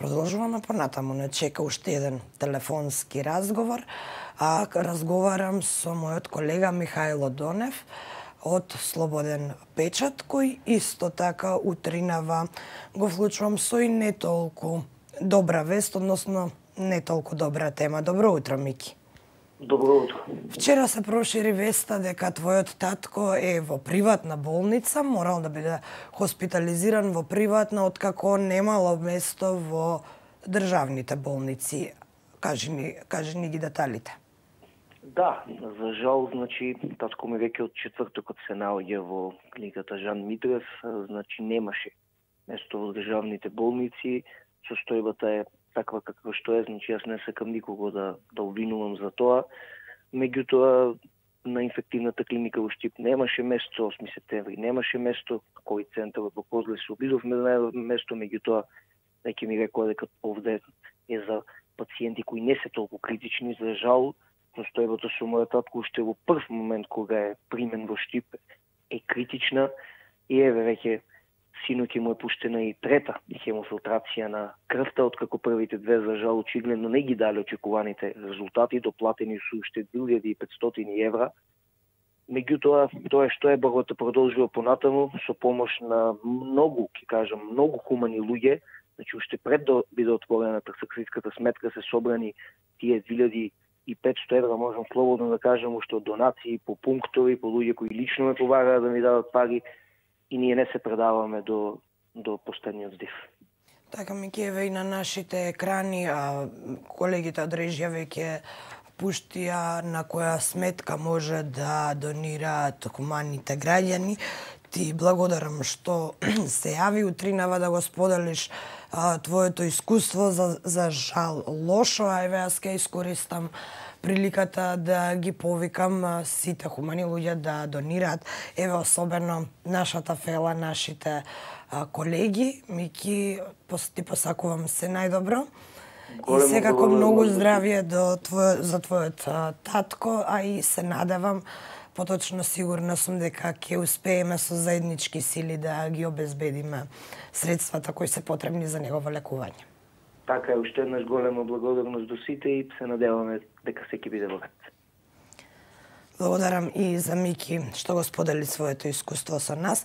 Продолжуваме понатаму, не чека уште еден телефонски разговор, а разговарам со мојот колега Михајло Донев од Слободен печат, кој исто така утринава го вклучувам со и не толку добра вест, односно не толку добра тема. Добро утро, Мики. Добро утро. Вчера се прошири веста дека твојот татко е во приватна болница, морал да биде хоспитализиран во приватна, откако немало место во државните болници. Кажи ни ги деталите. Да, за жал, татко ми веќе од четвртокот се наоѓа во клиниката Жан Митрев, немаше место во државните болници, состојбата е таква каква што е, јас не сакам никого да обвинувам за тоа. Меѓутоа, на инфективната клиника во Штип немаше место, 8 септември немаше место, ковид центарот во Козле се обидовме да најдеме место, меѓутоа веќе ми рекоа дека овде е за пациенти кои не се толку критични. За жал, состојбата со мојот татко уште во прв момент кога е примен во Штип е критична и еве веќе синоќ му е пуштена и трета хемофилтрација на крвта, откако првите две за жал очигледно не ги дали очекуваните резултати, доплатени со уште 2500 евра. Меѓутоа, тоа што е борбата продолжува понатаму со помош на многу хумани луѓе. Уште пред да биде отворена трансакцијската сметка се собрани тие 2500 евра, можам слободно да кажам, уште од донации по пунктови, по луѓе кои лично ме поваraa да ми дадат пари, и ние не се предаваме до последниот здив. Така, Мики, еве и на нашите екрани, колегите од режија веќе пуштија на која сметка може да донираат хуманите граѓани. Ти благодарам што се јави утринава да го споделиш твоето искуство, за жал лошо, а еве јас ќе искористам приликата да ги повикам сите хумани луѓе да донираат, еве особено нашата фела, нашите колеги. Мики, ти посакувам се најдобро и секако многу здравје за твојот татко, а и се надевам, поточно сигурна сум дека ќе успееме со заеднички сили да ги обезбедиме средствата кои се потребни за негово лекување. Така е, уште еднаш голема благодарност до сите и се надеваме дека секи биде во ред. Благодарам и за Мики што го сподели своето искуство со нас.